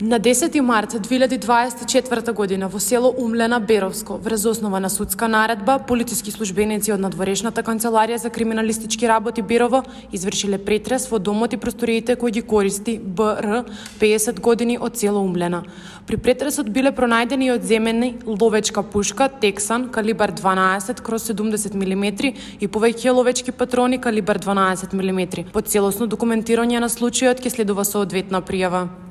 На 10 март 2024 година во село Умлена, Беровско, врз основа на судска наредба, полициски службеници од надворешната канцеларија за криминалистички работи Берово извршиле претрес во домот и просториите кои ги користи БР, 50 години, од село Умлена. При претресот биле пронајдени и одземени ловечка пушка Тексан калибар 12/70 мм и повеќе ловечки патрони калибар 12 мм. По целосно документирање на случајот ќе следува соодветна пријава.